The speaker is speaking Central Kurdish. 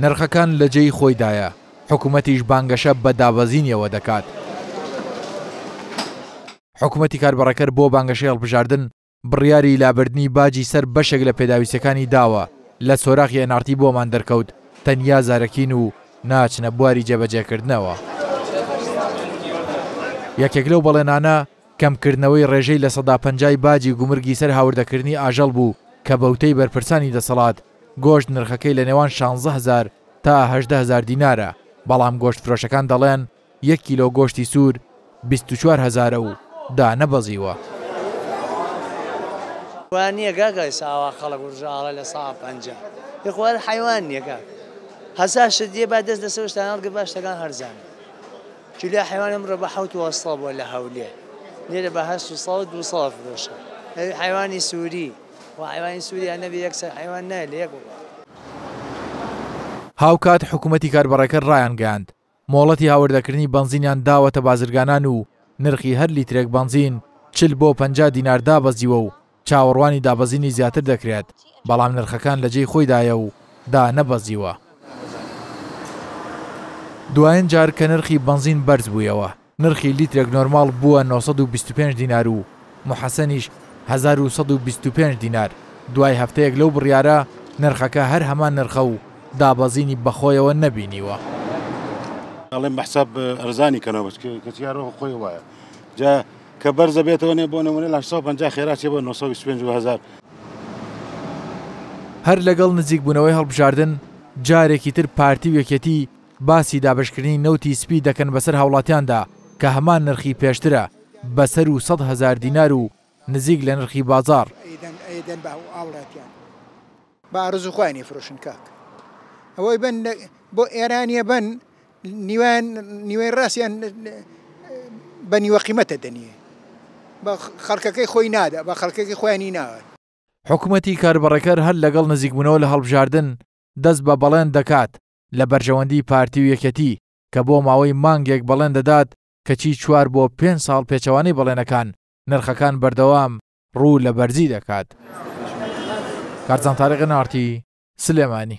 نرخەکان لە جێی خۆیدایە، حکومەتیش بانگەشە بە دابەزینیەوە دەکات. حکومەتی کاربەڕێکەر بۆ بانگەشەی هەڵبژاردن بڕیاری لابردنی باجی سەر بەشێک لە پێداویستیەکانی داوە، لە سۆراخی ئێن ئاڕ تی بۆمان دەرکەوت تەنیا زارەکین و ناچنە بواری جێبەجێکردنەوە. یەکێک لەو بەڵێنانە کەمکردنەوەی ڕێژەی 50% ی باجی گومرگی سەر هاوردەکردنی ئاژەڵ بوو کە بەوتەی بەرپرسانی دەسەڵات گۆشت نرخەکەی لە نێوان 16 هەزار تا 18 هەزار دینارە، بەڵام گۆشتفرۆشەکان دەڵێن یەک کیلۆ گۆشتی سوور 24 هەزارە و دانەبەزیوە. وا نییە کاکە ئێستا ئاوا خەڵک ورژە ئاڵە 50% یخوا هەر حەیوان نییە کاک هەزار شت دێ با دەست لەسەر شتان هەڵگر با شتەکان هەرزان کیلۆ حەیوان ئەمڕۆ بە حەوت و هەشت سەد بووە لە هەولێر لێرە بە 800 و 200 فرۆشە حەیوانی سووری و حەیوانی سووریا نەبێ یەکسەر حەیوان نایە لە یەک وڵات. هاوکات حکومەتی کاربەڕێکەر ڕایانگەیاند، مۆڵەتی هاوردەکردنی بەنزینیان داوەتە بازرگانان و نرخی هەر لیترێک بەنزین 40 بۆ 50 دینار دابەزیوە و چاوەڕوانی دابەزینی زیاتر دەکرێت، بەڵام نرخەکان لە جێی خۆیدایە و دانەبەزیوە. دوایین جار کە نرخی بەنزین بەرزبوویەوە، نرخی لیترێک نۆرماڵ بووە 925 دینار و موحەسەنیش 1125 دینار، دوای هەفتەیەک لەو بڕیارە نرخەکە هەر هەمان نرخە و دابەزینی بەخۆیەوە نەبینیوە. ئەڵێم بە حساب ئەرزانی کەنەوە بەس کەچی هەر خۆی وایە جا کە بەرزە بێتەوە نێ بۆ نمونە لە 850 خێرا چێ بۆ 925 و هەزار. هەر لەگەڵ نزیکبوونەوەی هەڵبژاردن جارێکی تر پارتی و یەکێتی باسی دابەشکردنی نەوتی سپی دەکەن بەسەر هاوڵاتیاندا کە هەمان نرخی پێشترە بە سەروو 100 هەزار دینار و نزیک لە نرخی بازاڕ. ئەیدەن بە هاوڵاتیان بە ئارەزوو خۆیان ئەیفرۆشن کاک ئەوەی بن بۆ ئێرانیە بن نیوان نیوەی ڕاستیان بە نیوە قیمەتە دەنیە بە خەڵکەکەی خۆی نادا بە خەڵکەکەی خۆیانی ناوە. حکومەتی کاربەڕێکەر هەر لەگەڵ نزیکبوونەوە لە هەڵبژاردن دەست بە بەڵێن دەکات لە بەرژەوەندی پارتی و یەکێتی کە بۆ ماوەی مانگێک بەڵێن دەدات کەچی چوار بۆ پێنج ساڵ پێچەوانەی بەڵێنەکان نرخەکان بەردەوام ڕوو لە بەرزی دەکات. کارزان تاریق، ئێن ئاڕ تی، سلێمانی.